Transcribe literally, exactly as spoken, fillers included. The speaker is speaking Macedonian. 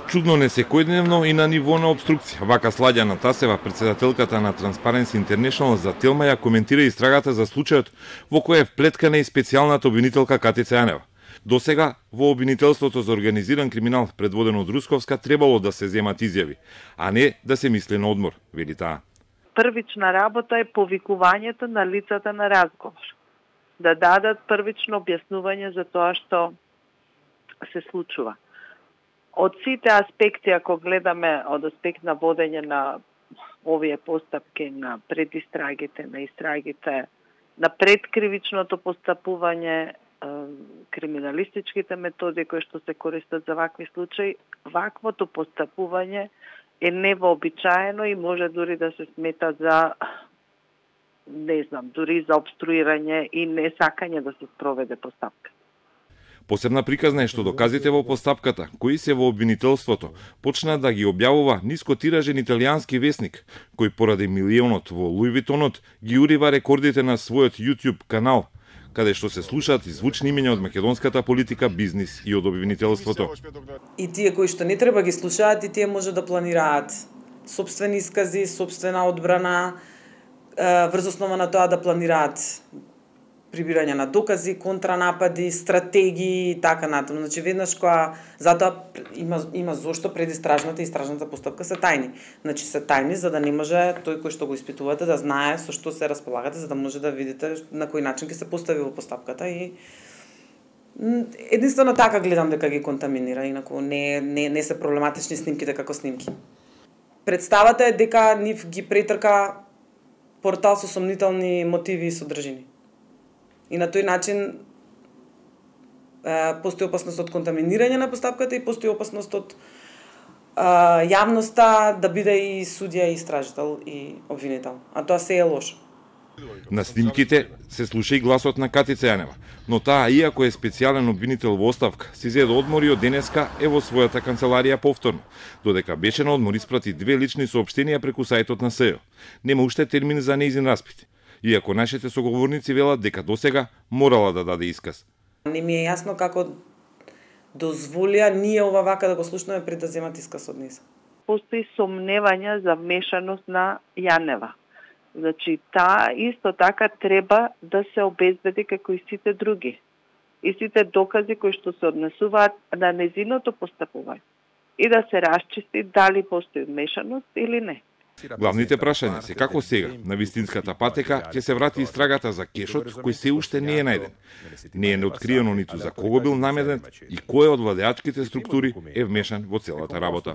Чудно не секојдневно и на ниво на обструкција. Вака Сладјана Тасева, председателката на Transparency International за Телма, ја коментира истрагата за случајот во кој е вплеткана и специјалната обвинителка Катица Јанева. До сега, во обвинителството за организиран криминал, предводено од Русковска, требало да се земат изјави, а не да се мисли на одмор, вели таа. Првична работа е повикувањето на лицата на разговор. Да дадат првично објаснување за тоа што се случува. Од сите аспекти, ако гледаме од аспект на водење на овие постапки, на предистрагите, на истрагите, на предкривичното постапување, криминалистичките методи кои што се користат за вакви случаи, ваквото постапување е невообичаено и може дури да се смета за, не знам, дури за обструирање и несакање да се спроведе постапка. Посебна приказна е што доказите во постапката, кои се во обвинителството, почна да ги објавува нискотиражен италијански весник, кој поради милионот во Луи Витонот ги урива рекордите на својот YouTube канал, каде што се слушаат и звучни имења од македонската политика, бизнис и од обвинителството. И тие кои што не треба ги слушаат, и тие може да планираат сопствени искази, сопствена одбрана, врз основа на тоа да планираат прибирање на докази, контранапади, стратегии и така натаму. Значи веднаш кога затоа има има зошто предистражната и истражната постапка се тајни. Значи се тајни за да не може тој кој што го испитувате да знае со што се располагате, за да може да видите на кој начин ќе се постави во постапката и единствено така гледам дека ги контаминира, инаку не не не се проблематични снимките како снимки. Представата е дека нив ги претрка портал со сомнителни мотиви и содржини. И на тој начин е, постои опасност од контаминирање на постапката и постои опасност од е, јавноста да биде и судија, и истражител, и обвинител. А тоа се е лошо. На снимките се слуша и гласот на Катица Јанева, но таа, иако е специјален обвинител во оставка, си зеде одмор и од денеска е во својата канцеларија повторно, додека беше на одмор испрати две лични соопштенија преку сајтот на СЈО. Нема уште термин за нејзин распит. Иако нашите соговорници велат дека досега морала да даде исказ. Не ми е јасно како дозволија ние ова вака да го слушнеме пред да земат исказ од неса. Постои сомневања за вмешаност на Јанева. Значи, таа исто така треба да се обезбеди како и сите други. И сите докази кои што се однесуваат на незиното постапување. И да се расчисти дали постои вмешаност или не. Главните прашања се како сега, на вистинската патека, ќе се врати истрагата за кешот, кој се уште не е најден. Не е неоткриено ниту за кого бил наменет и кој од владеачките структури е вмешан во целата работа.